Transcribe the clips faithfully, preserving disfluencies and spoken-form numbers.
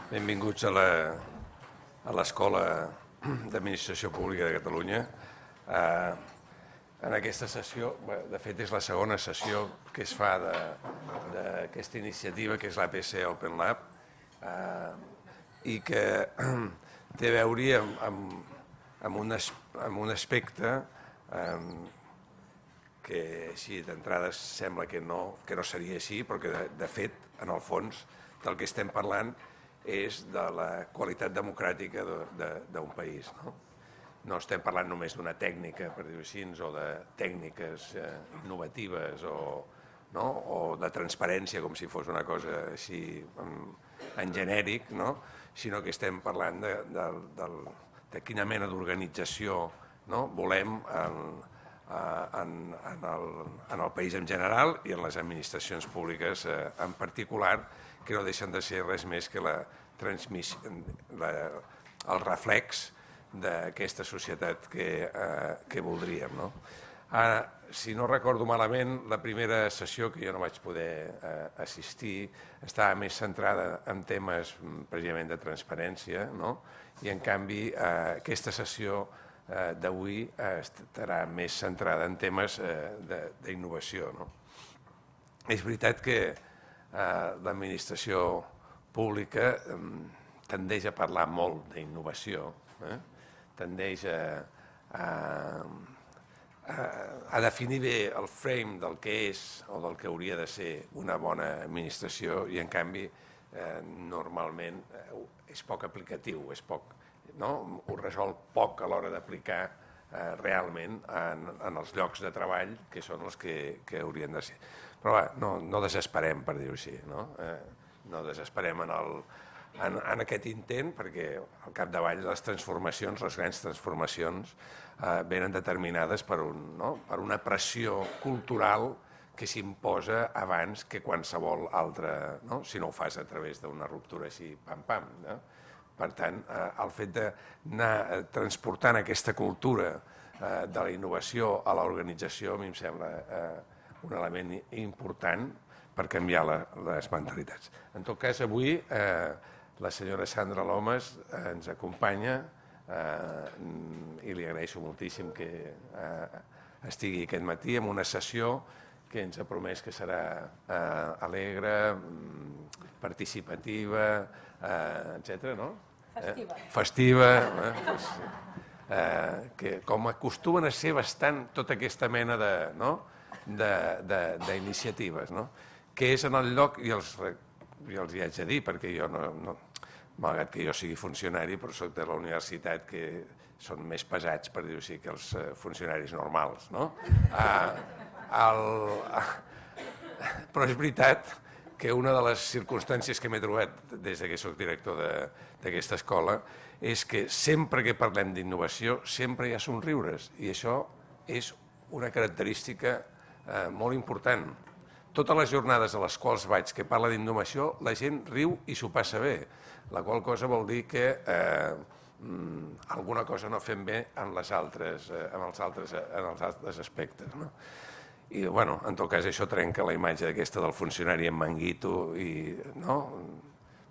Benvinguts a l'Escola d'Administració Pública de Catalunya. En aquesta sessió, de fet és la segona sessió que es fa d'aquesta iniciativa, que és l'A P C Open Lab, i que té a veure amb un aspecte que així d'entrada sembla que no seria així, però que de fet, en el fons, del que estem parlant és de la qualitat democràtica d'un país. No estem parlant només d'una tècnica, per dir-ho així, o de tècniques innovatives o de transparència, com si fos una cosa així en genèric, sinó que estem parlant de quina mena d'organització volem en el país en general i en les administracions públiques en particular, que no deixen de ser res més que el reflex d'aquesta societat que voldríem. Ara, si no recordo malament, la primera sessió, que jo no vaig poder assistir, estava més centrada en temes precisament de transparència, i en canvi aquesta sessió d'avui estarà més centrada en temes d'innovació. És veritat que l'administració pública tendeix a parlar molt d'innovació, tendeix a definir bé el frame del que és o del que hauria de ser una bona administració i, en canvi, normalment és poc aplicatiu, ho resol poc a l'hora d'aplicar realment en els llocs de treball que són els que haurien de ser. Però no desesperem, per dir-ho així, no desesperem en aquest intent, perquè al capdavall les transformacions, les grans transformacions, venen determinades per una pressió cultural que s'imposa abans que qualsevol altra, si no ho fas a través d'una ruptura així, pam-pam. Per tant, el fet d'anar transportant aquesta cultura de la innovació a l'organització a mi em sembla un element important per canviar les mentalitats. En tot cas, avui la senyora Sandra Lomas ens acompanya i li agraeixo moltíssim que estigui aquest matí en una sessió que ens ha promès que serà alegre, participativa, etcètera, no? Festiva. Festiva, com acostumen a ser bastant tota aquesta mena d'iniciatives, que és en el lloc, i els hi haig de dir, perquè jo, malgrat que jo sigui funcionari, però soc de la universitat, que són més pesats, per dir-ho així, que els funcionaris normals. Però és veritat que una de les circumstàncies que m'he trobat des que soc director d'aquesta escola és que sempre que parlem d'innovació sempre hi ha somriures, i això és una característica molt important. Totes les jornades a les quals vaig que parla d'innovació, la gent riu i s'ho passa bé, la qual cosa vol dir que alguna cosa no fem bé en els altres aspectes. I, en tot cas, això trenca la imatge aquesta del funcionari amb manguito i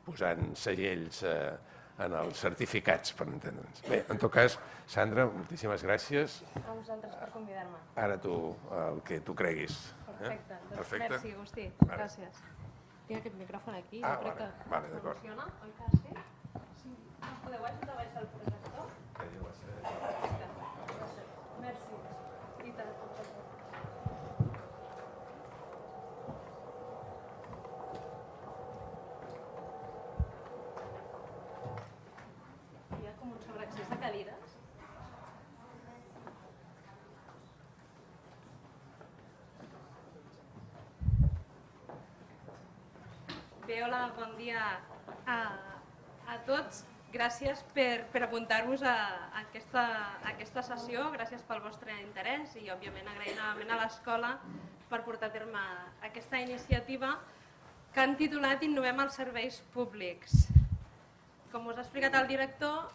posant segells en els certificats, per entendre'ns. Bé, en tot cas, Sandra, moltíssimes gràcies. A vosaltres per convidar-me. Ara tu, el que tu creguis. Perfecte, doncs merci, Agustí. Gràcies. Tinc aquest micròfon aquí, jo crec que funciona, oi que sí? Si us podeu ajudar a baixar el projector? Perfecte. Merci. I tant. Hi ha com un sobreaccés de cadires. Bé, hola, bon dia a tots. Gràcies per apuntar-vos a aquesta sessió, gràcies pel vostre interès i, òbviament, agrair novament a l'escola per portar a terme aquesta iniciativa que han titulat Innovem els serveis públics. Com us ha explicat el director,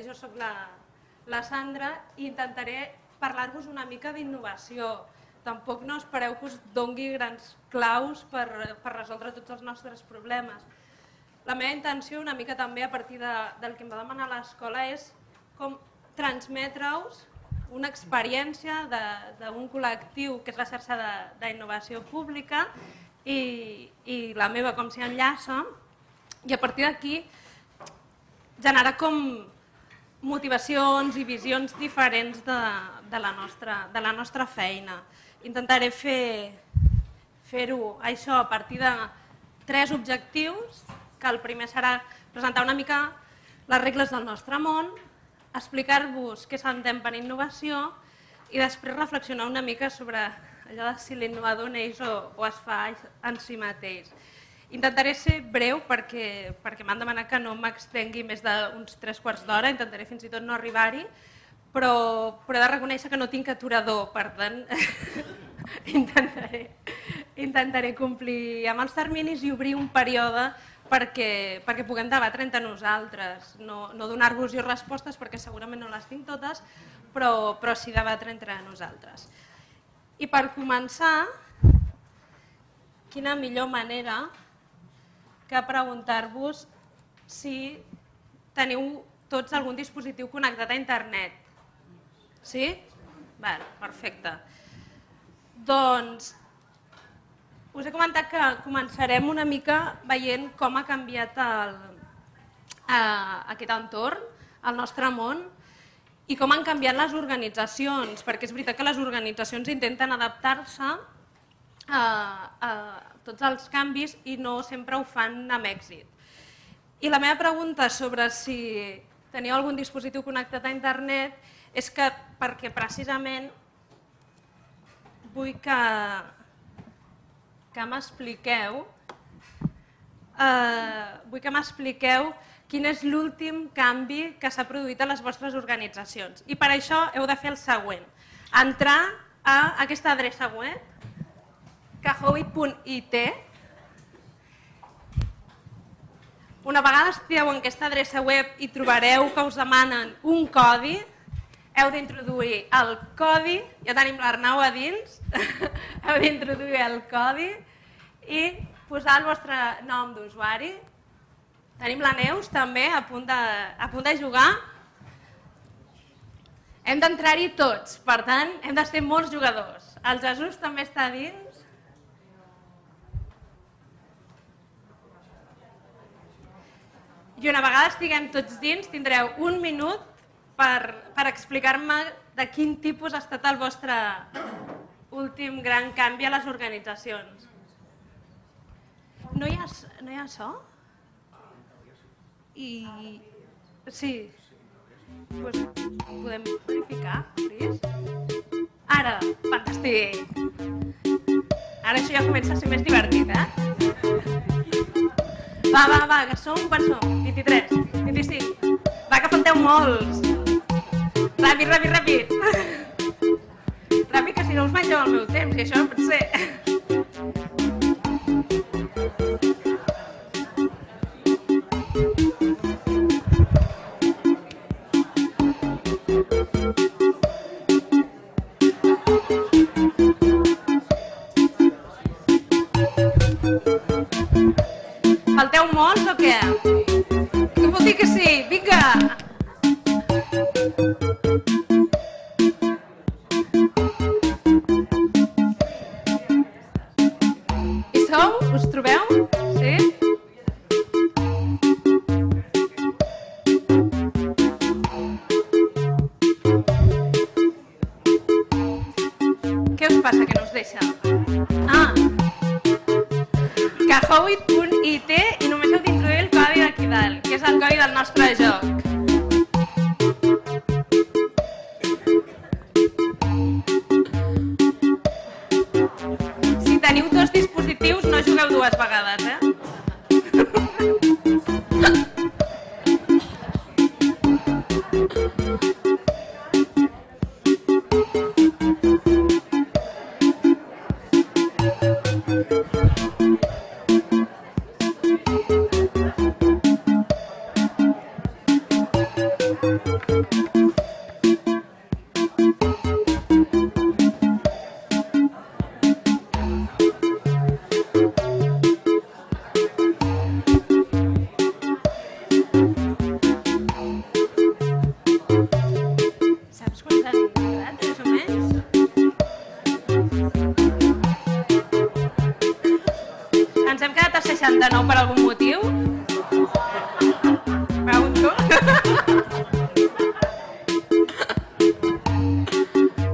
jo soc la Sandra i intentaré parlar-vos una mica d'innovació. Tampoc no espereu que us doni grans claus per resoldre tots els nostres problemes. la meva intenció una mica també a partir del que em va demanar l'escola és com transmetre-us una experiència d'un col·lectiu que és la xarxa d'innovació pública i la meva com s'hi enllaça, i a partir d'aquí generar com motivacions i visions diferents de la nostra feina. Intentaré fer-ho això a partir de tres objectius, que el primer serà presentar una mica les regles del nostre món, explicar-vos què s'entén per innovació i després reflexionar una mica sobre allò de si l'innovador neix o es fa en si mateix. Intentaré ser breu perquè m'han demanat que no m'extengui més d'uns tres quarts d'hora, intentaré fins i tot no arribar-hi, però he de reconèixer que no tinc aturador, per tant intentaré complir amb els terminis i obrir un període perquè puguem debatre entre nosaltres, no donar-vos jo respostes perquè segurament no les tinc totes, però sí debatre entre nosaltres. I per començar, quina millor manera que preguntar-vos si teniu tots algun dispositiu connectat a internet. Sí? Perfecte. Doncs us he comentat que començarem una mica veient com ha canviat aquest entorn, el nostre món, i com han canviat les organitzacions, perquè és veritat que les organitzacions intenten adaptar-se a tots els canvis i no sempre ho fan amb èxit. I la meva pregunta sobre si teniu algun dispositiu connectat a internet és que perquè precisament vull que m'expliqueu vull que m'expliqueu quin és l'últim canvi que s'ha produït a les vostres organitzacions. I per això heu de fer el següent. Entrar a aquesta adreça web, kahoot punt it. Una vegada estigueu en aquesta adreça web i trobareu que us demanen un codi, heu d'introduir el codi, ja tenim l'Arnau a dins, heu d'introduir el codi i posar el vostre nom d'usuari. Tenim la Neus també a punt de jugar. Hem d'entrar-hi tots, per tant, hem de ser molts jugadors. El Jesús també està a dins. I una vegada estiguem tots dins, tindreu un minut per explicar-me de quin tipus ha estat el vostre últim gran canvi a les organitzacions. No hi ha so? I... sí. Doncs podem verificar, please? Ara, fantàstic! Ara això ja comença a ser més divertit, eh? Va, va, va, que som, quan som? vint-i-tres, vint-i-cinc... Va, que falteu molts! Ràpid, ràpid, ràpid! Ràpid, que si no us mengeu el meu temps, i això no pot ser. Falteu molts o què? Què vol dir que sí? Vinga! Hi sou? Us trobeu? Sí? Què us passa que no us deixa? Ah! kahoot punt it i només heu d'introduir el codi d'aquí dalt, que és el codi del nostre joc. Si teniu dos dispositius, no jugueu dues vegades, eh? seixanta-nou per algun motiu? Pregunto.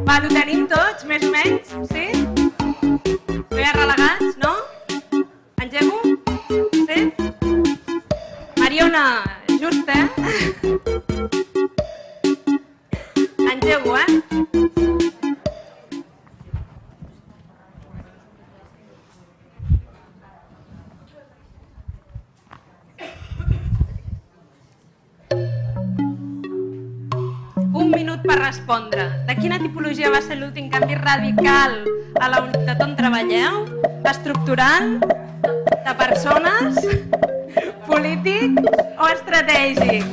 Va, ho tenim tots, més o menys? Sí? No hi ha relegats, no? Engego? Sí? Mariona, just, eh? Engego, eh? Un minut per respondre. De quina tipologia va ser l'últim canvi radical a la unitat on treballeu? Estructural? De persones? Polític o estratègic?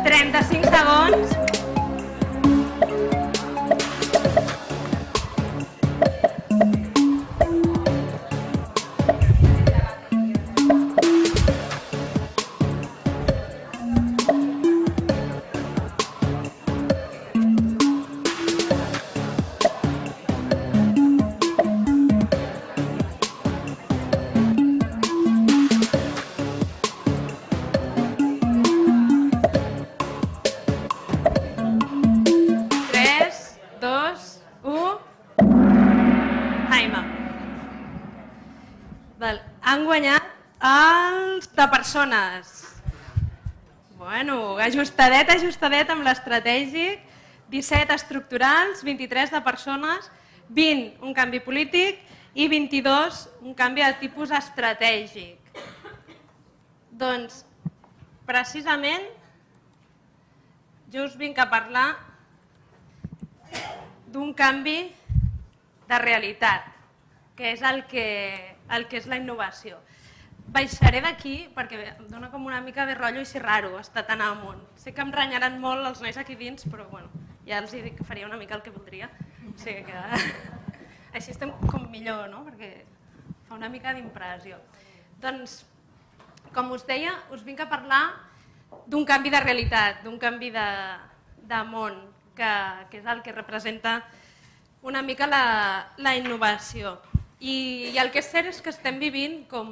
trenta-cinc segons. Han guanyat els de persones. Bueno, ajustadet, ajustadet amb l'estratègic, disset estructurals, vint-i-tres de persones, vint un canvi polític i vint-i-dos un canvi de tipus estratègic. Doncs, precisament, jo us vinc a parlar d'un canvi de realitat, que és el que, el que és la innovació. Baixaré d'aquí perquè em dona com una mica de rotllo i si raro estar tan amunt. Sé que em renyaran molt els nois aquí dins, però bueno, ja els dic que faria una mica el que voldria. O sigui que així estem com millor, no? Perquè fa una mica d'impressió. Doncs, com us deia, us vinc a parlar d'un canvi de realitat, d'un canvi de, de món, que, que és el que representa una mica la, la innovació. I, I el que és cert és que estem vivint, com,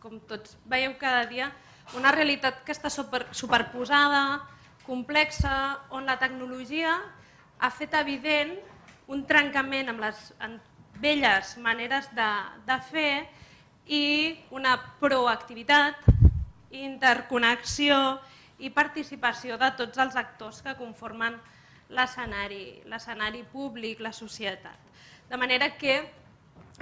com tots veieu cada dia, una realitat que està super, superposada, complexa, on la tecnologia ha fet evident un trencament amb les velles maneres de, de fer i una proactivitat, interconnexió i participació de tots els actors que conformen l'escenari, l'escenari públic, la societat. De manera que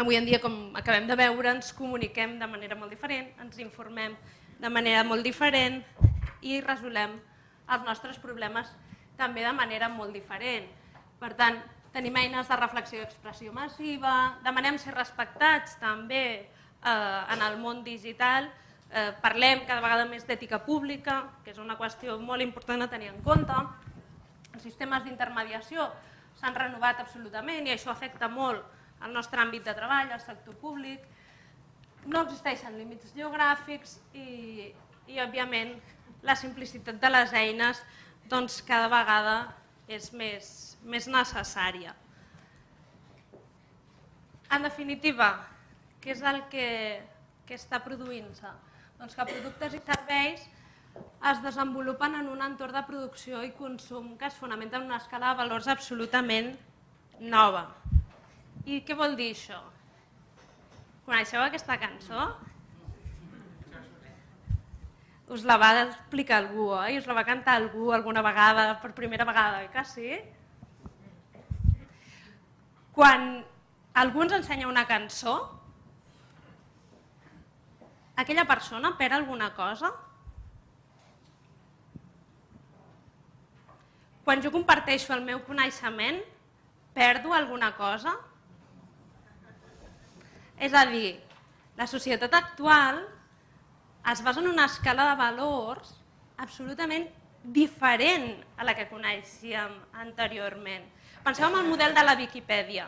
avui en dia, com acabem de veure, ens comuniquem de manera molt diferent, ens informem de manera molt diferent i resolem els nostres problemes també de manera molt diferent. Per tant, tenim eines de reflexió i expressió massiva, demanem ser respectats també eh, en el món digital, eh, parlem cada vegada més d'ètica pública, que és una qüestió molt important a tenir en compte. Els sistemes d'intermediació s'han renovat absolutament i això afecta molt el nostre àmbit de treball, el sector públic. No existeixen límits geogràfics i, i òbviament, la simplicitat de les eines doncs, cada vegada és més, més necessària. En definitiva, què és el que, que està produint-se? Doncs que productes i serveis es desenvolupen en un entorn de producció i consum que es fonamenta en una escala de valors absolutament nova. I què vol dir això? Coneixeu aquesta cançó? Us la va explicar algú, oi? Us la va cantar algú alguna vegada, per primera vegada, oi que sí? Quan algú ens ensenya una cançó, aquella persona perd alguna cosa? Quan jo comparteixo el meu coneixement, perdo alguna cosa? És a dir, la societat actual es basa en una escala de valors absolutament diferent a la que coneixíem anteriorment. Penseu en el model de la Viquipèdia.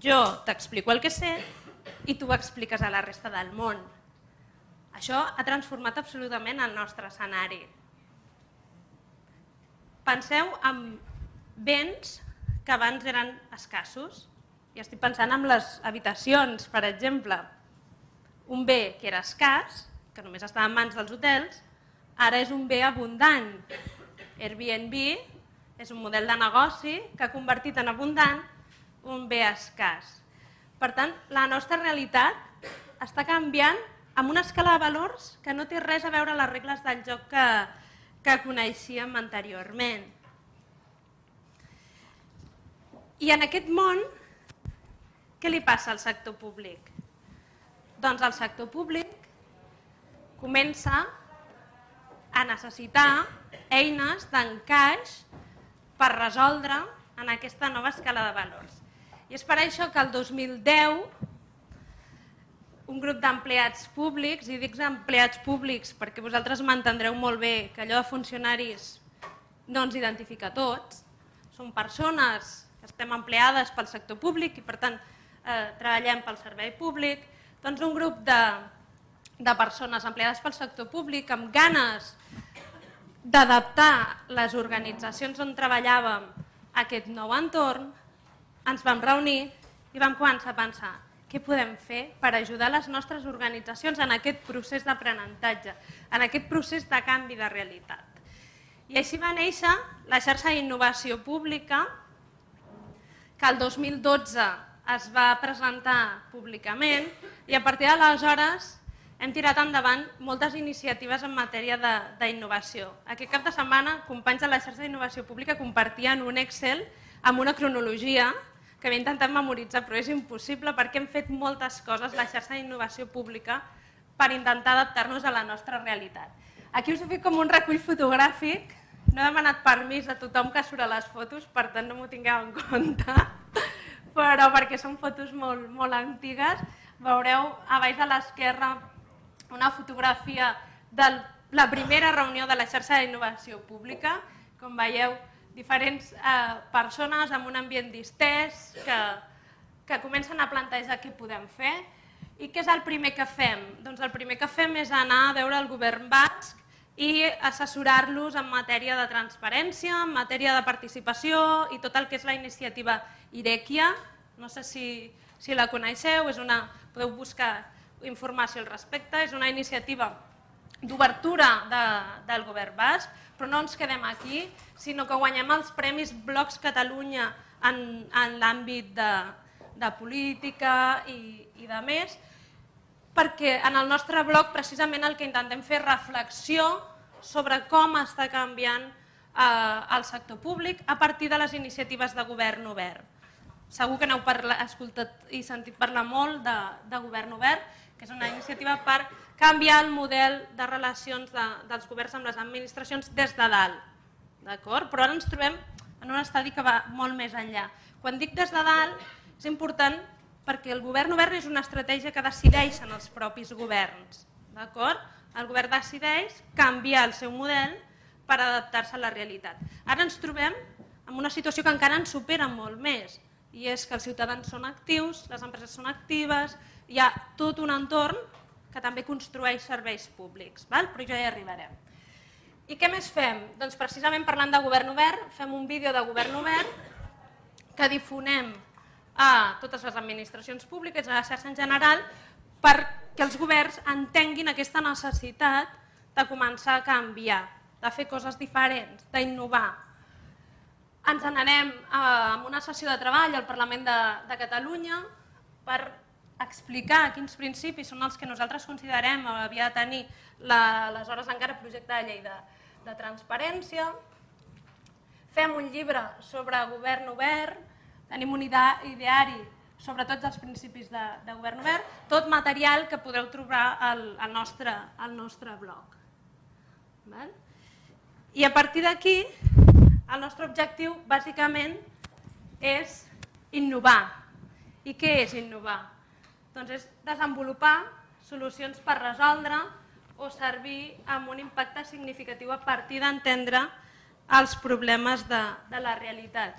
Jo t'explico el que sé i tu ho expliques a la resta del món. Això ha transformat absolutament el nostre escenari. penseu en béns que abans eren escassos. I estic pensant en les habitacions, per exemple. Un bé que era escàs, que només estava en mans dels hotels, ara és un bé abundant. Airbnb és un model de negoci que ha convertit en abundant un bé escàs. Per tant, la nostra realitat està canviant amb una escala de valors que no té res a veure amb les regles del joc que, que coneixíem anteriorment. I en aquest món, què li passa al sector públic? Doncs el sector públic comença a necessitar eines d'encaix per resoldre en aquesta nova escala de valors. I és per això que el dos mil deu un grup d'empleats públics, i dic empleats públics perquè vosaltres m'entendreu molt bé que allò de funcionaris no ens identifica a tots, són persones que estem empleades pel sector públic i per tant eh, treballem pel servei públic, doncs un grup de, de persones empleades pel sector públic amb ganes d'adaptar les organitzacions on treballàvem a aquest nou entorn, ens vam reunir i vam començar a pensar què podem fer per ajudar les nostres organitzacions en aquest procés d'aprenentatge, en aquest procés de canvi de realitat. I així va néixer la xarxa d'innovació pública, que el dos mil dotze es va presentar públicament i a partir d'aleshores hem tirat endavant moltes iniciatives en matèria d'innovació. Aquest cap de setmana, companys de la xarxa d'innovació pública compartien un Excel amb una cronologia que havia intentat memoritzar, però és impossible perquè hem fet moltes coses, la xarxa d'innovació pública, per intentar adaptar-nos a la nostra realitat. Aquí us he fet com un recull fotogràfic, no he demanat permís a tothom que surt a les fotos, per tant no m'ho tingueu en compte, però perquè són fotos molt, molt antigues. Veureu a baix a l'esquerra una fotografia de la primera reunió de la xarxa d'innovació pública. Com veieu, diferents eh, persones amb un ambient distès que, que comencen a plantejar què podem fer. I què és el primer que fem? Doncs el primer que fem és anar a veure el govern basc i assessorar-los en matèria de transparència, en matèria de participació i tot el que és la iniciativa Irekia. No sé si, si la coneixeu, és una, podeu buscar informació al respecte, és una iniciativa d'obertura de, del govern basc, però no ens quedem aquí, sinó que guanyem els premis Blocs Catalunya en, en l'àmbit de, de política i, i de més, perquè en el nostre bloc precisament el que intentem fer és reflexió sobre com està canviant eh, el sector públic a partir de les iniciatives de govern obert. Segur que n'heu escoltat i sentit parlar molt de, de govern obert, que és una iniciativa per canviar el model de relacions de, dels governs amb les administracions des de dalt. Però ara ens trobem en un estadi que va molt més enllà. Quan dic des de dalt és important perquè el govern obert és una estratègia que decideixen els propis governs. El govern decideix canviar el seu model per adaptar-se a la realitat. Ara ens trobem en una situació que encara ens supera molt més, i és que els ciutadans són actius, les empreses són actives, hi ha tot un entorn que també construeix serveis públics, però ja hi arribarem. I què més fem? Doncs precisament parlant de govern obert, fem un vídeo de govern obert que difonem a totes les administracions públiques, a la xarxa en general, perquè els governs entenguin aquesta necessitat de començar a canviar, de fer coses diferents, d'innovar. Ens n'anem a una sessió de treball al Parlament de, de Catalunya per explicar quins principis són els que nosaltres considerem que havia de tenir l'aleshores encara projecte de llei de, de transparència. Fem un llibre sobre govern obert, tenim un ideari sobre tots els principis de, de govern obert, tot material que podreu trobar al, al, nostre, al nostre blog. Val? I a partir d'aquí, el nostre objectiu bàsicament és innovar. I què és innovar? Doncs és desenvolupar solucions per resoldre o servir amb un impacte significatiu a partir d'entendre els problemes de, de la realitat.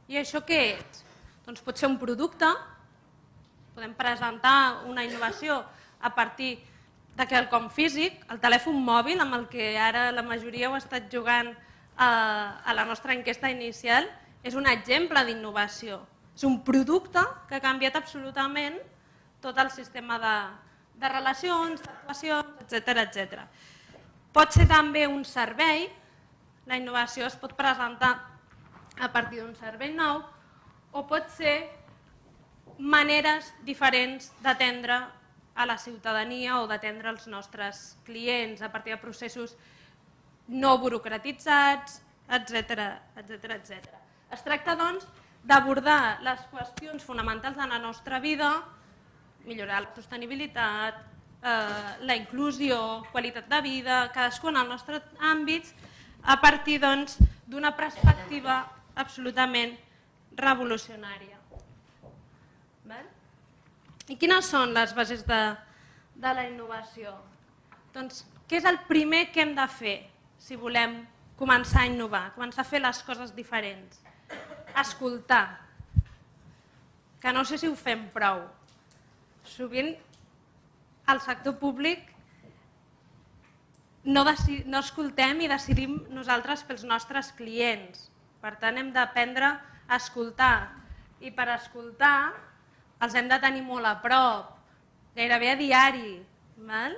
I això què és? Doncs pot ser un producte, podem presentar una innovació a partir de quelcom físic, el telèfon mòbil amb el que ara la majoria heu estat jugant a la nostra enquesta inicial, és un exemple d'innovació. És un producte que ha canviat absolutament tot el sistema de, de relacions, d'actuacions, etcètera, etcètera. Pot ser també un servei, la innovació es pot presentar a partir d'un servei nou, o pot ser maneres diferents d'atendre a la ciutadania o d'atendre els nostres clients a partir de processos no burocratitzats, etcètera, etcètera, etcètera. Es tracta, doncs, d'abordar les qüestions fonamentals de la nostra vida, millorar la sostenibilitat, eh, la inclusió, qualitat de vida, cadascú en el nostre àmbit, a partir doncs, d'una perspectiva absolutament revolucionària. Val? I quines són les bases de, de la innovació? Doncs, què és el primer que hem de fer si volem començar a innovar, començar a fer les coses diferents? Escoltar, que no sé si ho fem prou. Sovint al sector públic no, no escoltem i decidim nosaltres pels nostres clients. Per tant, hem d'aprendre a escoltar. I per escoltar els hem de tenir molt a prop, gairebé a diari. Val?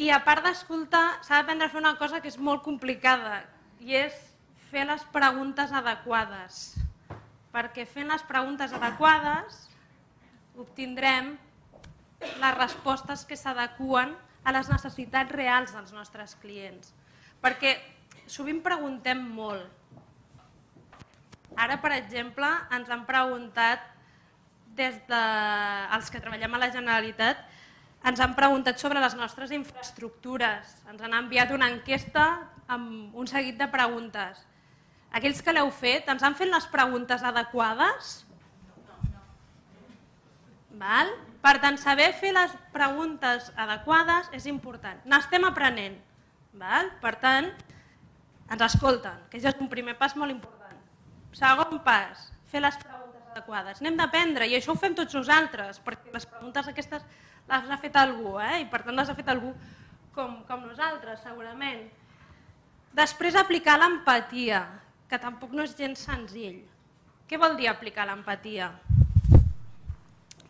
I a part d'escoltar, s'ha d'aprendre a fer una cosa que és molt complicada, i és fer les preguntes adequades. Perquè fent les preguntes adequades obtindrem les respostes que s'adeqüen a les necessitats reals dels nostres clients. Perquè sovint preguntem molt. Ara, per exemple, ens han preguntat, des dels que treballem a la Generalitat, ens han preguntat sobre les nostres infraestructures. Ens han enviat una enquesta amb un seguit de preguntes. Aquells que l'heu fet, ens han fet les preguntes adequades? Val? Per tant, saber fer les preguntes adequades és important. N'estem aprenent. Val? Per tant, ens escolten, que ja és un primer pas molt important. Segon pas, fer les preguntes adequades. N'hem d'aprendre, i això ho fem tots nosaltres, perquè les preguntes aquestes les ha fet algú, eh? I per tant les ha fet algú com, com nosaltres, segurament. Després, aplicar l'empatia, que tampoc no és gens senzill. Què vol dir aplicar l'empatia?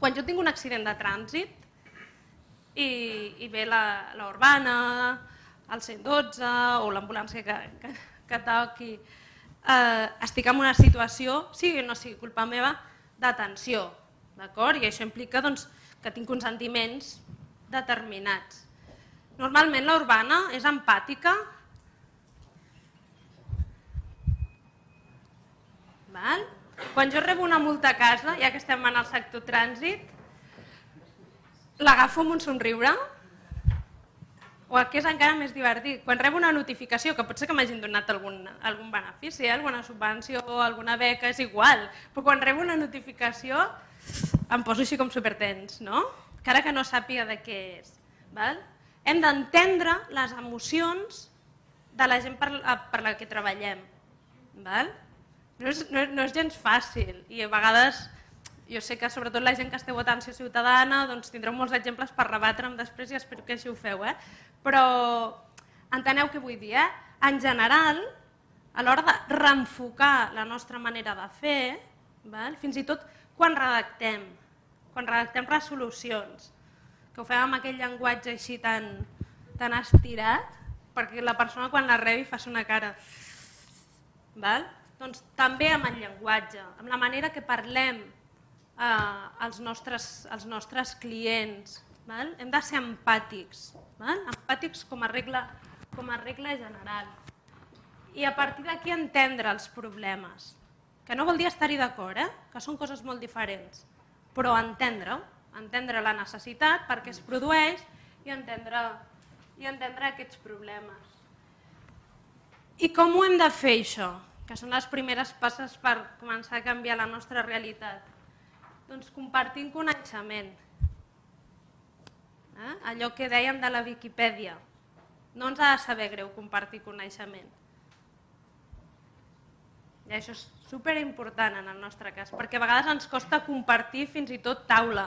Quan jo tinc un accident de trànsit i, i ve l'urbana, el cent dotze o l'ambulància que, que, que toqui, eh, estic en una situació, sigui o no sigui culpa meva, d'atenció. I això implica doncs, que tinc uns sentiments determinats. Normalment l'urbana és empàtica. Val? Quan jo rebo una multa a casa, ja que estem en el sector trànsit, l'agafo amb un somriure, o el que és encara més divertit, quan rebo una notificació, que pot ser que m'hagin donat algun, algun benefici, eh? Alguna subvenció, alguna beca, és igual, però quan rebo una notificació em poso així com supertens, no? Encara que no sàpiga de què és. Val? Hem d'entendre les emocions de la gent per, per la que treballem. Val? No és, no, no és gens fàcil i a vegades jo sé que sobretot la gent que esteu a atenció ciutadana doncs tindreu molts exemples per rebatre'm després i espero que així ho feu. Eh? Però enteneu què vull dir. Eh? En general, a l'hora de reenfocar la nostra manera de fer, val? Fins i tot quan redactem, quan redactem resolucions, que ho fem amb aquell llenguatge així tan, tan estirat, perquè la persona quan la rebi fa una cara. Val? Doncs també amb el llenguatge, amb la manera que parlem eh, als, nostres, als nostres clients. Val? Hem de ser empàtics, val? Empàtics com a, regla, com a regla general. I a partir d'aquí entendre els problemes, que no vol dir estar-hi d'acord, eh? Que són coses molt diferents, però entendre-ho, entendre la necessitat, per què es produeix i entendre, i entendre aquests problemes. I com ho hem de fer això? Que són les primeres passes per començar a canviar la nostra realitat. Doncs compartint coneixement. Eh? Allò que dèiem de la Viquipèdia. No ens ha de saber greu compartir coneixement. I això és superimportant en el nostre cas, perquè a vegades ens costa compartir fins i tot taula.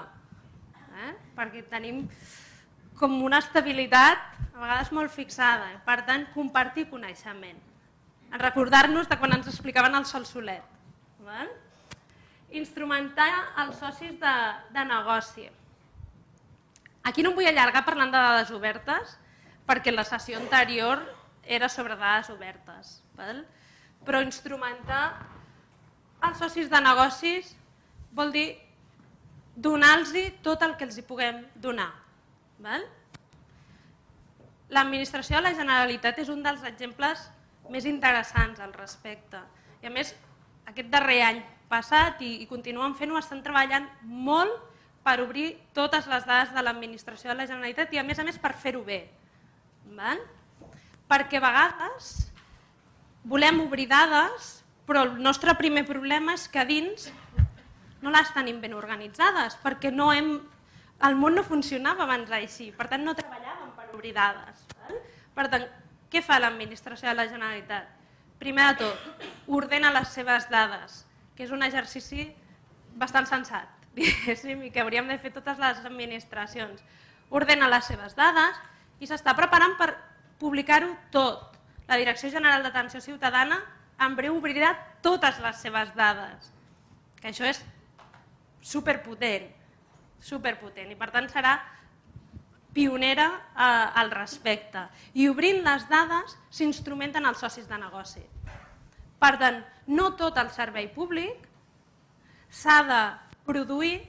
Eh? Perquè tenim com una estabilitat a vegades molt fixada. Per tant, compartir coneixement. Recordar-nos de quan ens explicaven el sol solet. Val? Instrumentar els socis de, de negoci. Aquí no em vull allargar parlant de dades obertes, perquè la sessió anterior era sobre dades obertes. Val? Però instrumentar els socis de negocis vol dir donar-los tot el que els hi puguem donar. L'administració de la Generalitat és un dels exemples més interessants al respecte. I a més, aquest darrer any passat i, i continuen fent-ho, estan treballant molt per obrir totes les dades de l'administració de la Generalitat i a més a més per fer-ho bé. Val? Perquè a vegades volem obrir dades, però el nostre primer problema és que a dins no les tenim ben organitzades, perquè no hem, el món no funcionava abans així, per tant no treballàvem per obrir dades. Val? Per tant, què fa l'administració de la Generalitat? Primer de tot, ordena les seves dades, que és un exercici bastant sensat, diguéssim, i que hauríem de fer totes les administracions. Ordena les seves dades i s'està preparant per publicar-ho tot. La Direcció General d'Atenció Ciutadana en breu obrirà totes les seves dades, que això és superpotent, superpotent, i per tant serà pionera al respecte. I obrint les dades s'instrumenten els socis de negoci. Per tant, no tot el servei públic s'ha de produir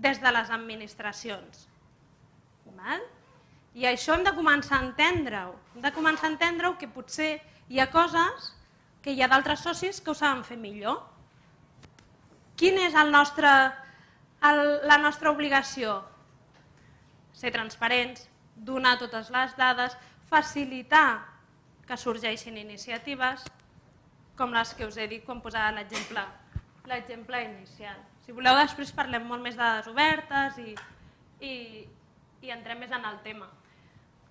des de les administracions. I això hem de començar a entendre-ho. Hem de començar a entendre-ho que potser hi ha coses que hi ha d'altres socis que ho saben fer millor. Quina és el nostre, el, la nostra obligació? Ser transparents, donar totes les dades, facilitar que sorgeixin iniciatives, com les que us he dit quan posava l'exemple inicial. Si voleu, després parlem molt més de dades obertes i, i, i entrem més en el tema.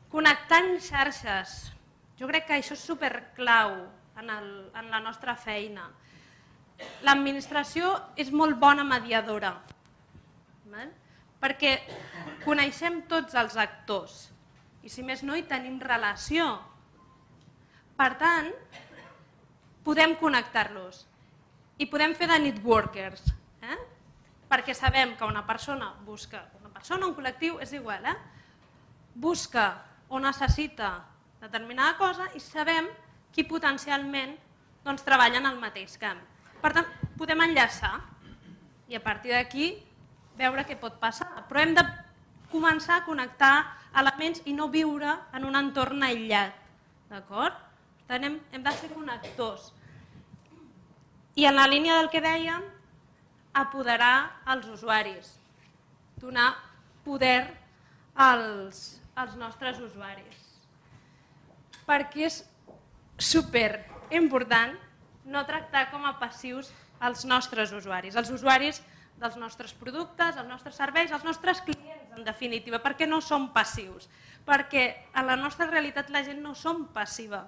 Connectant xarxes. Jo crec que això és superclau en, el, en la nostra feina. L'administració és molt bona mediadora, perquè coneixem tots els actors i si més no hi tenim relació. Per tant, podem connectar-los i podem fer de networkers, eh? Perquè sabem que una persona busca, una persona, un col·lectiu, és igual, eh? busca o necessita determinada cosa i sabem qui potencialment doncs, treballa en el mateix camp. Per tant, podem enllaçar i a partir d'aquí veure què pot passar. Però hem de començar a connectar elements i no viure en un entorn aïllat. D'acord? Per tant, hem, hem de ser connectors. I en la línia del que dèiem, apoderar els usuaris, donar poder als, als nostres usuaris. Perquè és superimportant no tractar com a passius els nostres usuaris, els usuaris dels nostres productes, els nostres serveis, els nostres clients, en definitiva, perquè no som passius, perquè en la nostra realitat la gent no som passiva.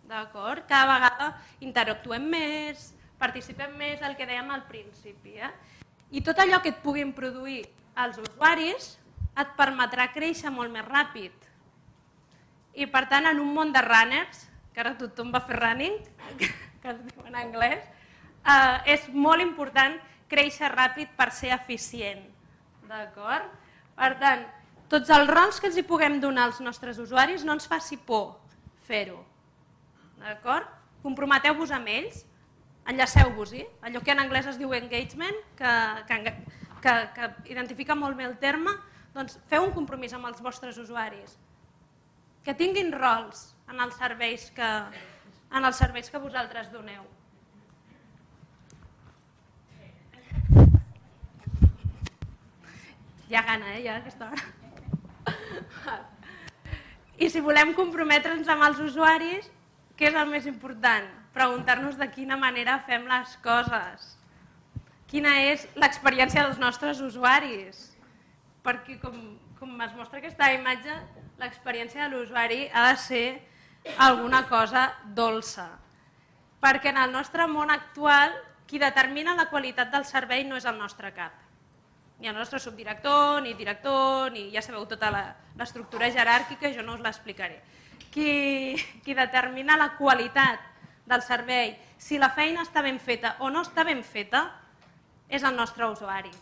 D'acord? Cada vegada interactuem més, participem més del que dèiem al principi. Eh? I tot allò que et puguin produir els usuaris et permetrà créixer molt més ràpid. I per tant, en un món de runners, que ara tothom va fer running, que es diu en anglès, eh, és molt important créixer ràpid per ser eficient. D'acord? Per tant, tots els rols que els hi puguem donar als nostres usuaris no ens faci por fer-ho. D'acord? Comprometeu-vos amb ells, enllaceu-vos-hi, allò que en anglès es diu engagement, que, que, que, que identifica molt bé el terme, doncs feu un compromís amb els vostres usuaris, que tinguin rols en els serveis que, en els serveis que vosaltres doneu. Hi ha gana, eh, ja, a aquesta hora. I si volem comprometre'ns amb els usuaris, què és el més important? Preguntar-nos de quina manera fem les coses. Quina és l'experiència dels nostres usuaris? Perquè, com, com es mostra aquesta imatge, l'experiència de l'usuari ha de ser alguna cosa dolça. Perquè en el nostre món actual, qui determina la qualitat del servei no és el nostre cap. ni el nostre subdirector, ni director, ni ja sabeu tota l'estructura jeràrquica, jo no us l'explicaré. Qui, qui determina la qualitat del servei, si la feina està ben feta o no està ben feta, és el nostre usuari.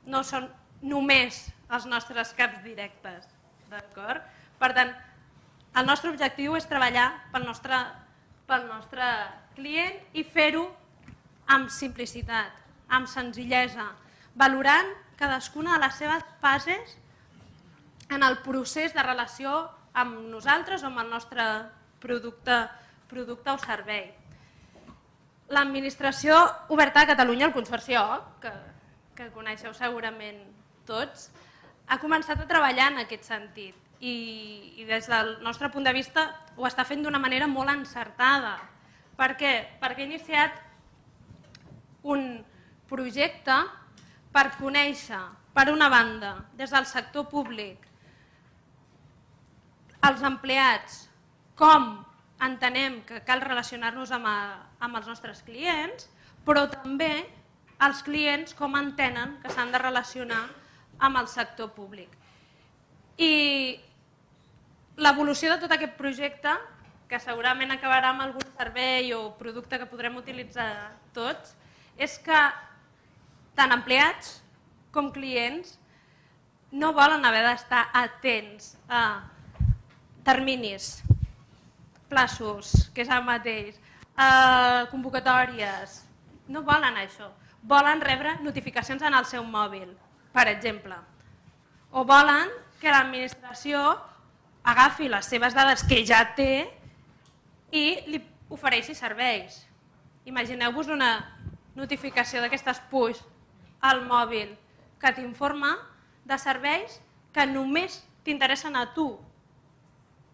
No són només els nostres caps directes, d'acord? Per tant, el nostre objectiu és treballar pel nostre, pel nostre client i fer-ho amb simplicitat, amb senzillesa, valorant cadascuna de les seves fases en el procés de relació amb nosaltres o amb el nostre producte, producte o servei. L'Administració Oberta de Catalunya, el Consorci O, que, que coneixeu segurament tots, ha començat a treballar en aquest sentit i, i des del nostre punt de vista ho està fent d'una manera molt encertada. Per què? Perquè ha iniciat un projecte per conèixer, per una banda, des del sector públic, els empleats, com entenem que cal relacionar-nos amb, amb els nostres clients, però també els clients com entenen que s'han de relacionar amb el sector públic. I l'evolució de tot aquest projecte, que segurament acabarà amb algun servei o producte que podrem utilitzar tots, és que tant empleats com clients no volen haver d'estar atents a terminis, plaços, que és el mateix, eh, convocatòries, no volen això. Volen rebre notificacions en el seu mòbil, per exemple. O volen que l'administració agafi les seves dades que ja té i li ofereixi serveis. Imagineu-vos una notificació d'aquestes push al mòbil que t'informa de serveis que només t'interessen a tu,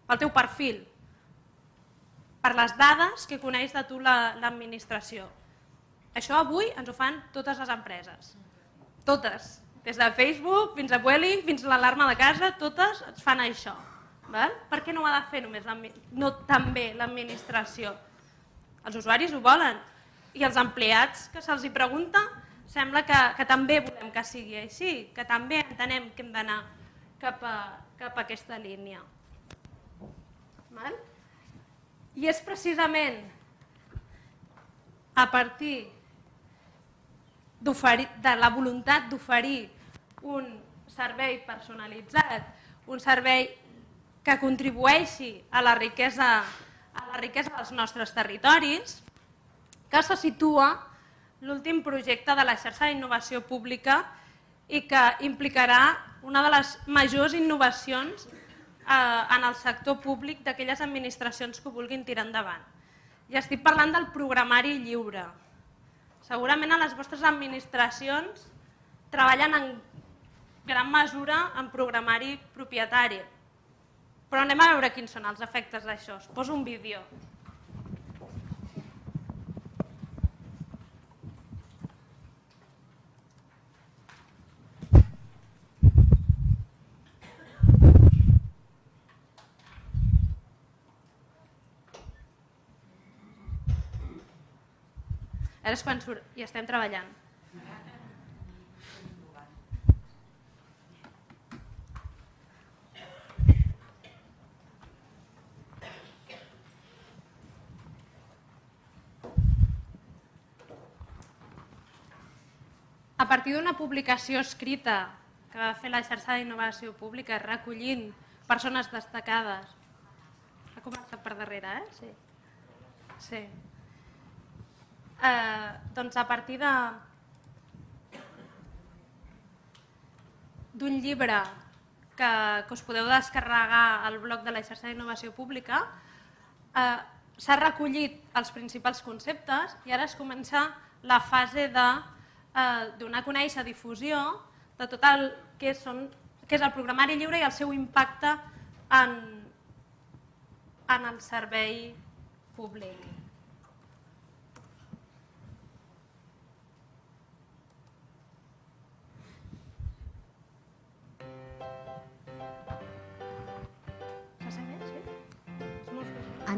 pel teu perfil, per les dades que coneix de tu l'administració. Això avui ens ho fan totes les empreses. Totes. Des de Facebook fins a Vueling, fins a l'alarma de casa, totes ens fan això. Per què no ho ha de fer només no també l'administració? Els usuaris ho volen i els empleats que se'ls hi pregunta sembla que, que també volem que sigui així, que també entenem que hem d'anar cap, cap a aquesta línia. Val? I és precisament a partir de la voluntat d'oferir un servei personalitzat, un servei que contribueixi a la riquesa, a la riquesa dels nostres territoris, que se situa l'últim projecte de la xarxa d'innovació pública i que implicarà una de les majors innovacions en el sector públic d'aquelles administracions que ho vulguin tirar endavant. I estic parlant del programari lliure. Segurament a les vostres administracions treballen en gran mesura en programari propietari, però anem a veure quins són els efectes d'això. Us poso un vídeo. Ara és quan surt i estem treballant. A partir d'una publicació escrita que va fer la xarxa d'innovació pública recollint persones destacades, ha començat per darrere, eh? Sí. Sí. Eh, doncs a partir de d'un llibre que, que us podeu descarregar al blog de la xarxa d'innovació pública, eh, s'ha recollit els principals conceptes i ara es comença la fase de eh, donar a conèixer difusió de tot el que, són, que és el programari lliure i el seu impacte en, en el servei públic.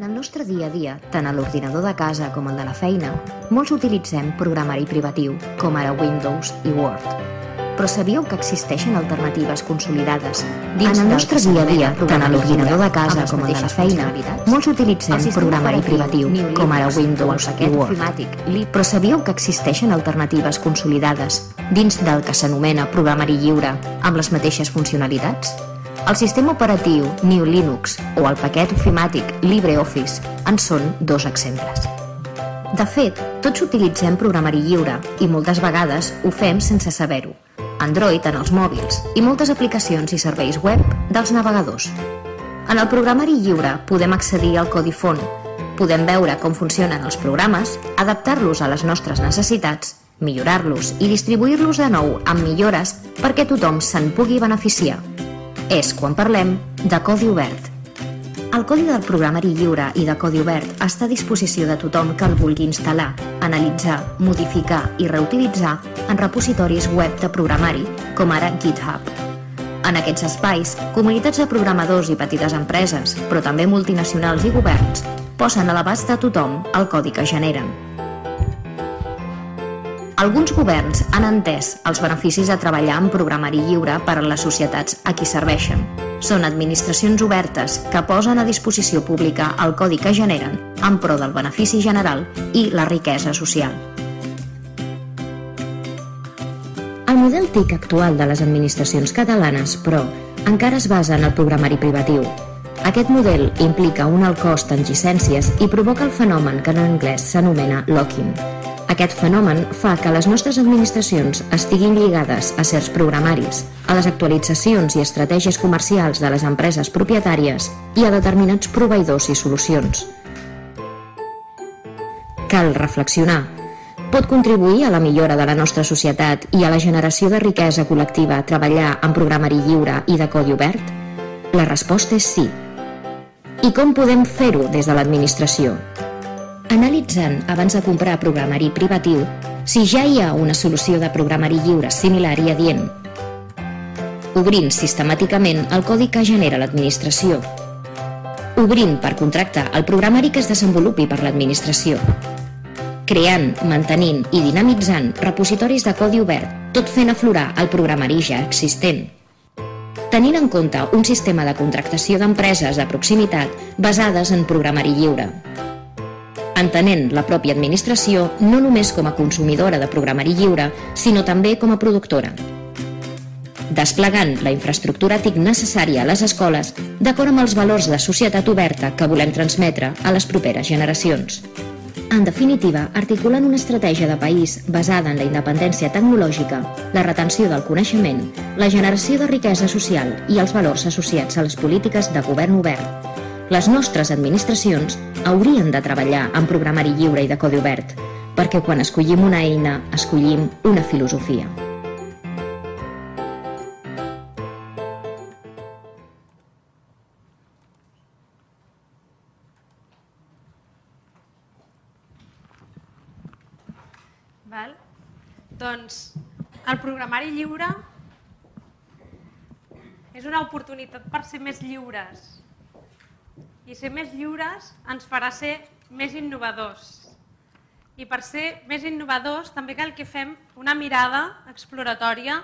En el nostre dia a dia, tant a l'ordinador de casa com el de la feina, molts utilitzem programari privatiu, com ara Windows i Word. Però sabíeu que existeixen alternatives consolidades? En el nostre dia a dia, tant a l'ordinador de casa com a la feina, molts utilitzem programari privatiu, com ara Windows i Word. Però sabíeu que existeixen alternatives consolidades dins del que s'anomena programari lliure amb les mateixes funcionalitats? El sistema operatiu G N U Linux o el paquet ofimàtic LibreOffice en són dos exemples. De fet, tots utilitzem programari lliure i moltes vegades ho fem sense saber-ho. Android en els mòbils i moltes aplicacions i serveis web dels navegadors. En el programari lliure podem accedir al codi font, podem veure com funcionen els programes, adaptar-los a les nostres necessitats, millorar-los i distribuir-los de nou amb millores perquè tothom se'n pugui beneficiar. És quan parlem de codi obert. El codi del programari lliure i de codi obert està a disposició de tothom que el vulgui instal·lar, analitzar, modificar i reutilitzar en repositoris web de programari, com ara GitHub. En aquests espais, comunitats de programadors i petites empreses, però també multinacionals i governs, posen a l'abast de tothom el codi que generen. Alguns governs han entès els beneficis de treballar en programari lliure per a les societats a qui serveixen. Són administracions obertes que posen a disposició pública el codi que generen en pro del benefici general i la riquesa social. El model T I C actual de les administracions catalanes, però, encara es basa en el programari privatiu. Aquest model implica un alt cost en llicències i provoca el fenomen que en anglès s'anomena locking. Aquest fenomen fa que les nostres administracions estiguin lligades a certs programaris, a les actualitzacions i estratègies comercials de les empreses propietàries i a determinats proveïdors i solucions. Cal reflexionar. Pot contribuir a la millora de la nostra societat i a la generació de riquesa col·lectiva treballar en programari lliure i de codi obert? La resposta és sí. I com podem fer-ho des de l'administració? Analitzant, abans de comprar programari privatiu, si ja hi ha una solució de programari lliure similar i adient. Obrint sistemàticament el codi que genera l'administració. Obrint per contractar el programari que es desenvolupi per l'administració. Creant, mantenint i dinamitzant repositoris de codi obert, tot fent aflorar el programari ja existent. Tenint en compte un sistema de contractació d'empreses de proximitat basades en programari lliure. Entenent la pròpia administració no només com a consumidora de programari lliure, sinó també com a productora. Desplegant la infraestructura T I C necessària a les escoles d'acord amb els valors de societat oberta que volem transmetre a les properes generacions. En definitiva, articulant una estratègia de país basada en la independència tecnològica, la retenció del coneixement, la generació de riquesa social i els valors associats a les polítiques de govern obert. Les nostres administracions haurien de treballar en programari lliure i de codi obert, perquè quan escollim una eina, escollim una filosofia. Val? Doncs el programari lliure és una oportunitat per ser més lliures. I ser més lliures ens farà ser més innovadors. I per ser més innovadors també cal que fem una mirada exploratòria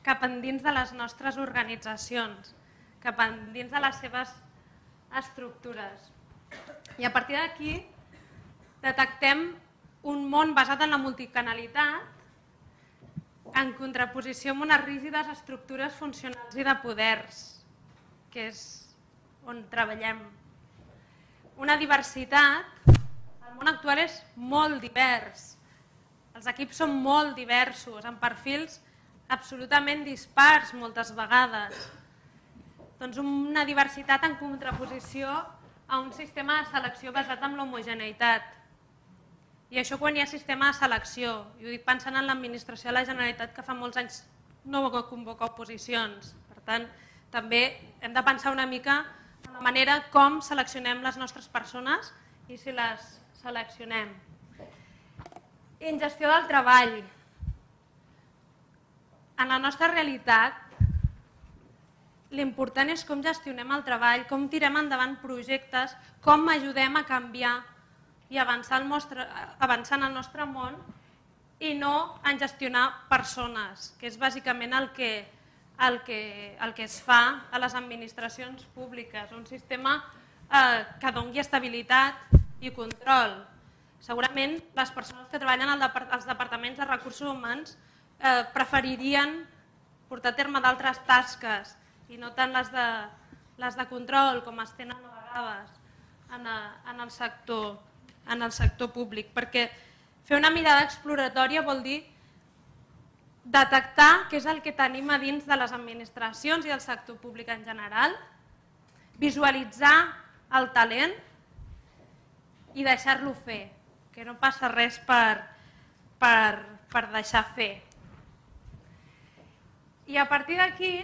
cap endins de les nostres organitzacions, cap endins de les seves estructures. I a partir d'aquí detectem un món basat en la multicanalitat en contraposició amb unes rígides estructures funcionals i de poders, que és on treballem. Una diversitat, el món actual és molt divers, els equips són molt diversos, amb perfils absolutament dispars moltes vegades. Doncs una diversitat en contraposició a un sistema de selecció basat en l'homogeneïtat. I això quan hi ha sistema de selecció, i ho dic pensant en l'administració de la Generalitat que fa molts anys no convoca oposicions. Per tant, també hem de pensar una mica en la manera com seleccionem les nostres persones i si les seleccionem. En gestió del treball. En la nostra realitat, l'important és com gestionem el treball, com tirem endavant projectes, com ajudem a canviar i avançar en el nostre món i no en gestionar persones, que és bàsicament el que, el que, el que es fa a les administracions públiques, un sistema eh, que doni estabilitat i control. Segurament les persones que treballen als departaments de recursos humans eh, preferirien portar a terme d'altres tasques i no tant les de, les de control com es tenen a vegades en, a, en, el sector, en el sector públic, perquè fer una mirada exploratòria vol dir detectar què és el que tenim a dins de les administracions i del sector públic en general, visualitzar el talent i deixar-lo fer, que no passa res per, per, per deixar fer. I a partir d'aquí,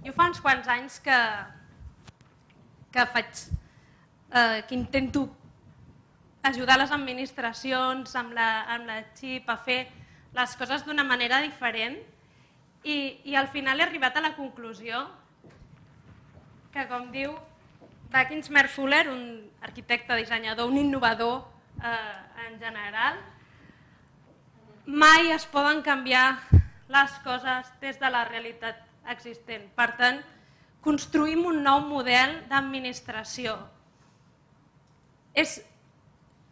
jo fa uns quants anys que, que faig, eh, que intento ajudar les administracions amb la, amb la xip a fer les coses d'una manera diferent i, i al final he arribat a la conclusió que, com diu Dawkins Merfuller, un arquitecte, dissenyador, un innovador eh, en general, mai es poden canviar les coses des de la realitat existent. Per tant, construïm un nou model d'administració. És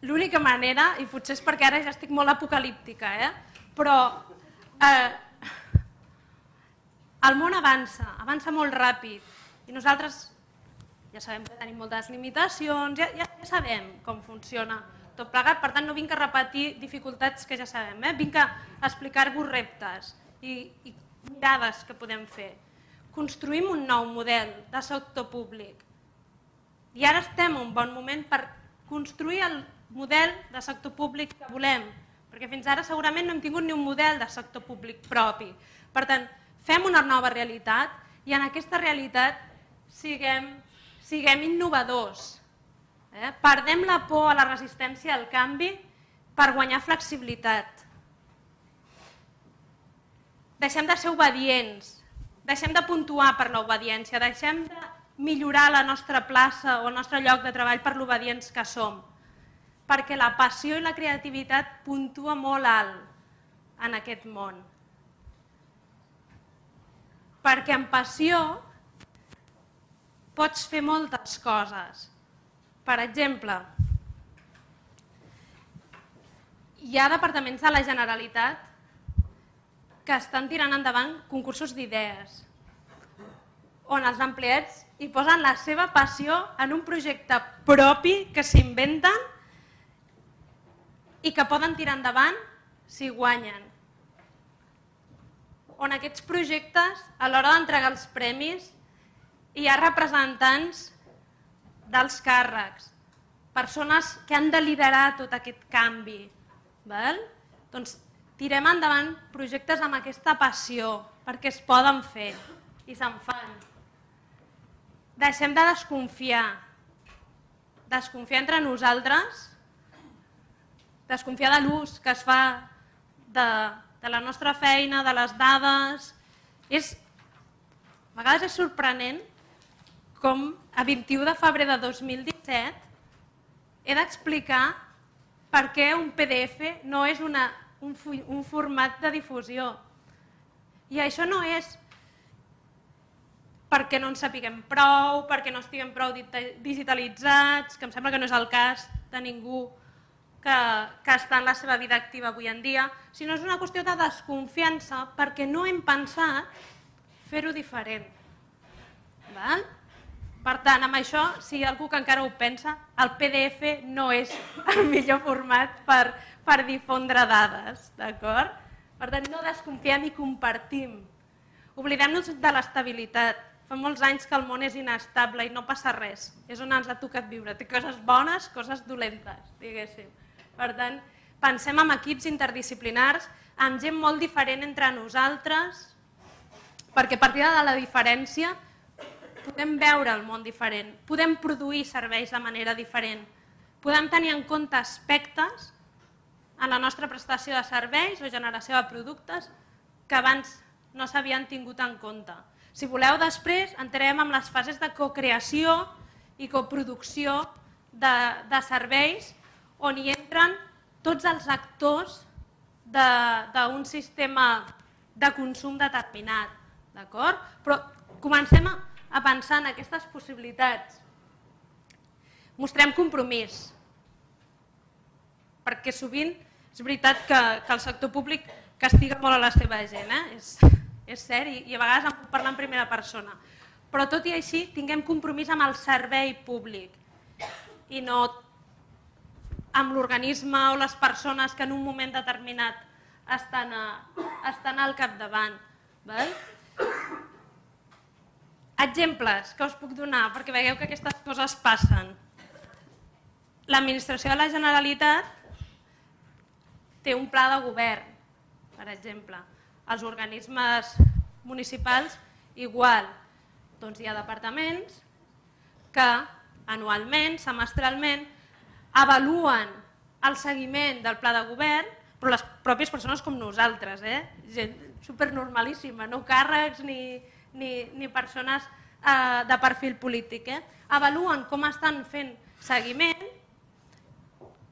l'única manera, i potser és perquè ara ja estic molt apocalíptica, eh? però eh, el món avança, avança molt ràpid i nosaltres ja sabem que tenim moltes limitacions, ja, ja, ja sabem com funciona tot plegat, per tant no vinc a repetir dificultats que ja sabem, eh? vinc a explicar-vos reptes i, i mirades que podem fer. Construïm un nou model de sector públic i ara estem en un bon moment per construir el model de sector públic que volem, perquè fins ara segurament no hem tingut ni un model de sector públic propi. Per tant, fem una nova realitat i en aquesta realitat siguem, siguem innovadors. Eh? Perdem la por a la resistència al canvi per guanyar flexibilitat. Deixem de ser obedients, deixem de puntuar per l'obediència, deixem de millorar la nostra plaça o el nostre lloc de treball per l'obedients que som, perquè la passió i la creativitat puntua molt alt en aquest món. Perquè amb passió pots fer moltes coses. Per exemple, hi ha departaments de la Generalitat que estan tirant endavant concursos d'idees, on els empleats hi posen la seva passió en un projecte propi que s'inventen i que poden tirar endavant si guanyen. On aquests projectes, a l'hora d'entregar els premis, hi ha representants dels càrrecs, persones que han de liderar tot aquest canvi. Val? Doncs tirem endavant projectes amb aquesta passió, perquè es poden fer i se'n fan. Deixem de desconfiar, desconfiar entre nosaltres, desconfiar de l'ús que es fa de, de la nostra feina, de les dades. És, a vegades és sorprenent com a vint-i-u de febrer de dos mil disset he d'explicar per què un P D F no és una, un, un format de difusió. I això no és perquè no en sapiguem prou, perquè no estiguem prou digitalitzats, que em sembla que no és el cas de ningú que, que està en la seva vida activa avui en dia, sinó és una qüestió de desconfiança perquè no hem pensat fer-ho diferent. Val? Per tant, amb això, si hi ha algú que encara ho pensa, el P D F no és el millor format per, per difondre dades, d'acord? Per tant, no desconfiem i compartim. Oblidem-nos de l'estabilitat. Fa molts anys que el món és inestable i no passa res. És on ens ha tocat viure. Té coses bones, coses dolentes, diguéssim. Per tant, pensem en equips interdisciplinars, amb gent molt diferent entre nosaltres, perquè a partir de la diferència podem veure el món diferent, podem produir serveis de manera diferent, podem tenir en compte aspectes en la nostra prestació de serveis o generació de productes que abans no s'havien tingut en compte. Si voleu, després entrem en les fases de cocreació i coproducció de, de serveis on hi entren tots els actors d'un sistema de consum determinat, d'acord? Però comencem a pensar en aquestes possibilitats. Mostrem compromís, perquè sovint és veritat que el sector públic castiga molt a la seva gent, és cert, i a vegades en puc parlar en primera persona. Però tot i així tinguem compromís amb el servei públic i no amb l'organisme o les persones que en un moment determinat estan al capdavant. Exemples que us puc donar perquè veieu que aquestes coses passen. L'administració de la Generalitat té un pla de govern, per exemple. Els organismes municipals igual. Doncs hi ha departaments que anualment, semestralment, avaluen el seguiment del pla de govern, però les pròpies persones com nosaltres, gent supernormalíssima, no càrrecs ni persones de perfil polític. Avaluen com estan fent seguiment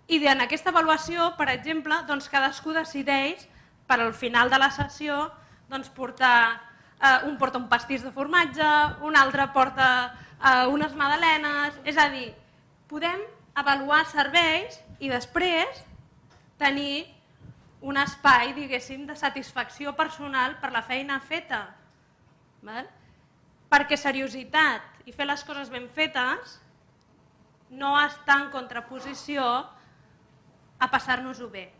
i en aquesta avaluació, per exemple, cadascú decideix per al final de la sessió portar un porta un pastís de formatge, un altre porta unes magdalenes, és a dir, podem avaluar serveis i després tenir un espai, diguéssim, de satisfacció personal per la feina feta. Perquè seriositat i fer les coses ben fetes no està en contraposició a passar-nos-ho bé.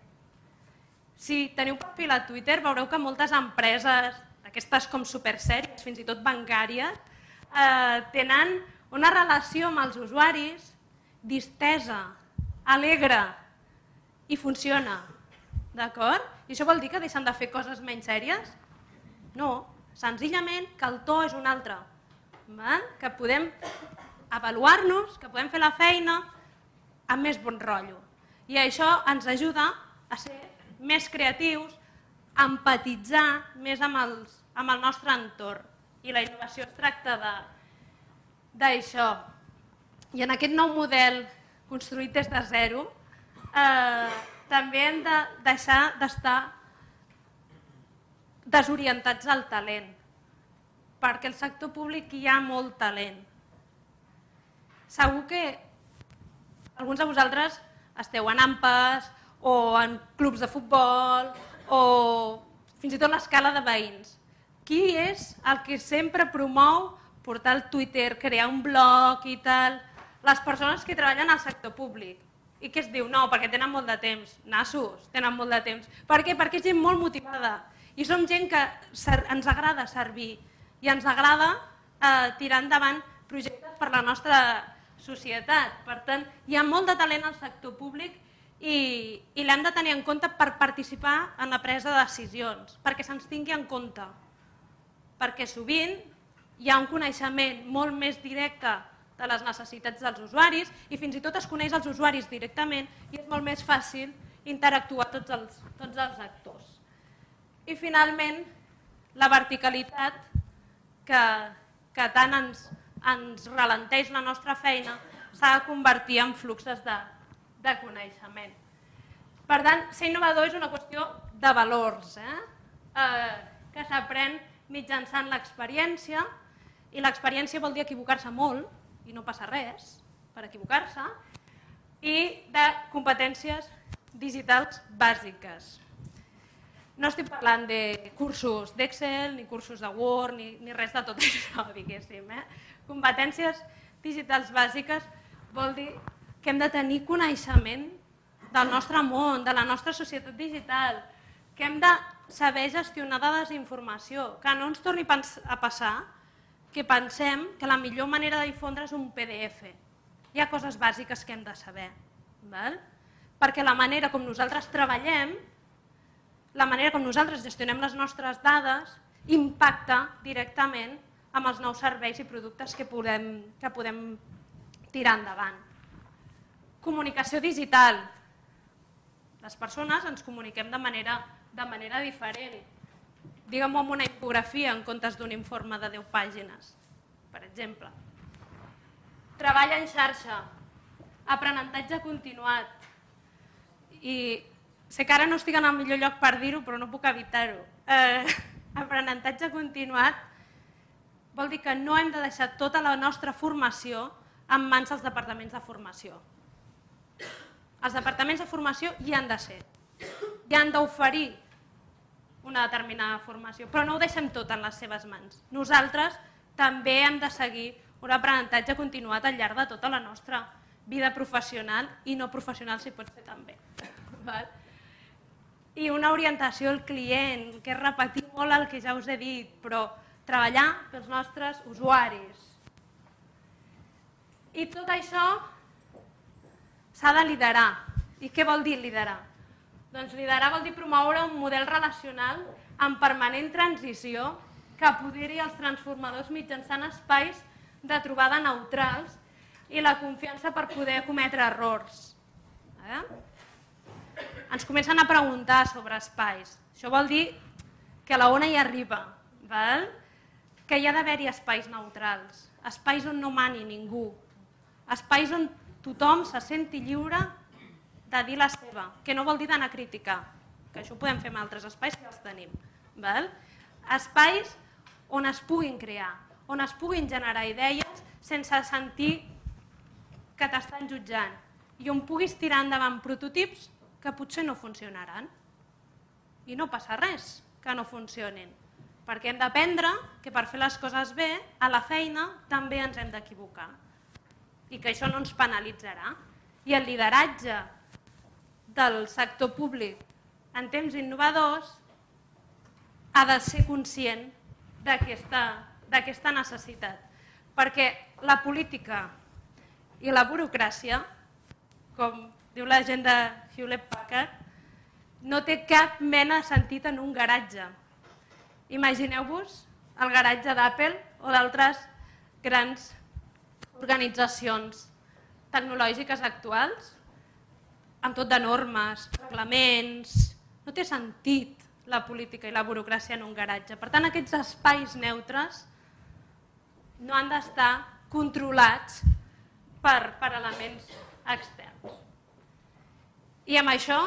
Si teniu perfil a Twitter veureu que moltes empreses, aquestes com supersèries, fins i tot bancàries, tenen una relació amb els usuaris distesa, alegre i funciona. D'acord? I això vol dir que deixen de fer coses menys sèries? No, senzillament que el to és un altre. Que podem avaluar-nos, que podem fer la feina amb més bon rotllo. I això ens ajuda a ser més creatius, a empatitzar més amb el nostre entorn. I la innovació es tracta d'això. I en aquest nou model construït des de zero també hem de deixar d'estar desorientats al talent, perquè al sector públic hi ha molt talent. Segur que alguns de vosaltres esteu en AMPAs o en clubs de futbol o fins i tot l'escala de veïns. Qui és el que sempre promou portar al Twitter, crear un blog i tal? Les persones que treballen al sector públic. I què es diu? No, perquè tenen molt de temps. Nassos, tenen molt de temps. Per què? Perquè és gent molt motivada. I som gent que ens agrada servir i ens agrada tirar endavant projectes per la nostra societat. Per tant, hi ha molt de talent al sector públic i l'hem de tenir en compte per participar en la presa de decisions, perquè se'ns tingui en compte. Perquè sovint hi ha un coneixement molt més directe de les necessitats dels usuaris i fins i tot es coneix els usuaris directament i és molt més fàcil interactuar tots els actors. I finalment, la verticalitat que tant ens ralenteix la nostra feina s'ha de convertir en fluxos de coneixement. Per tant, ser innovador és una qüestió de valors que s'aprèn mitjançant l'experiència i l'experiència vol dir equivocar-se molt i no passa res per equivocar-se, i de competències digitals bàsiques. No estic parlant de cursos d'Excel, ni cursos de Word, ni res de tot això, diguéssim. Competències digitals bàsiques vol dir que hem de tenir coneixement del nostre món, de la nostra societat digital, que hem de saber gestionar dades d'informació, que no ens torni a passar que pensem que la millor manera de difondre és un P D F. Hi ha coses bàsiques que hem de saber, perquè la manera com nosaltres treballem, la manera com nosaltres gestionem les nostres dades, impacta directament amb els nous serveis i productes que podem tirar endavant. Comunicació digital. Les persones ens comuniquem de manera diferent. Diguem-ho amb una infografia en comptes d'un informe de deu pàgines, per exemple. Treball en xarxa, aprenentatge continuat. i sé que ara no estic en el millor lloc per dir-ho, però no puc evitar-ho. Eh, aprenentatge continuat vol dir que no hem de deixar tota la nostra formació en mans dels departaments de formació. Els departaments de formació hi han de ser, hi han d'oferir una determinada formació, però no ho deixem tot en les seves mans. Nosaltres també hem de seguir un aprenentatge continuat al llarg de tota la nostra vida professional i no professional, si pot ser també. I una orientació al client, que és repetir molt el que ja us he dit, però treballar pels nostres usuaris. I tot això s'ha de liderar. I què vol dir liderar? Doncs liderar vol dir promoure un model relacional en permanent transició que apoderi els transformadors mitjançant espais de trobada neutrals i la confiança per poder cometre errors. Ens comencen a preguntar sobre espais. Això vol dir que la ona hi arriba, que hi ha d'haver-hi espais neutrals, espais on no mani ningú, espais on tothom se senti lliure de dir la seva, que no vol dir d'anar a criticar, que això ho podem fer en altres espais que els tenim. Espais on es puguin crear, on es puguin generar idees sense sentir que t'estan jutjant i on puguis tirar endavant prototips que potser no funcionaran. I no passa res que no funcionin, perquè hem d'aprendre que per fer les coses bé, a la feina també ens hem d'equivocar i que això no ens penalitzarà. I el lideratge del sector públic en temps innovadors ha de ser conscient d'aquesta necessitat, perquè la política i la burocràcia, com diu la gent de Hewlett-Packard, no té cap mena de sentit en un garatge. Imagineu-vos el garatge d'Apple o d'altres grans organitzacions tecnològiques actuals, amb tot de normes, reglaments. No té sentit la política i la burocràcia en un garatge. Per tant, aquests espais neutres no han d'estar controlats per elements externs. I amb això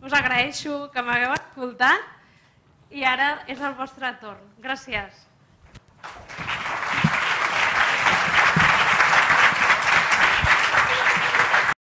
us agraeixo que m'hagueu escoltat i ara és el vostre torn. Gràcies.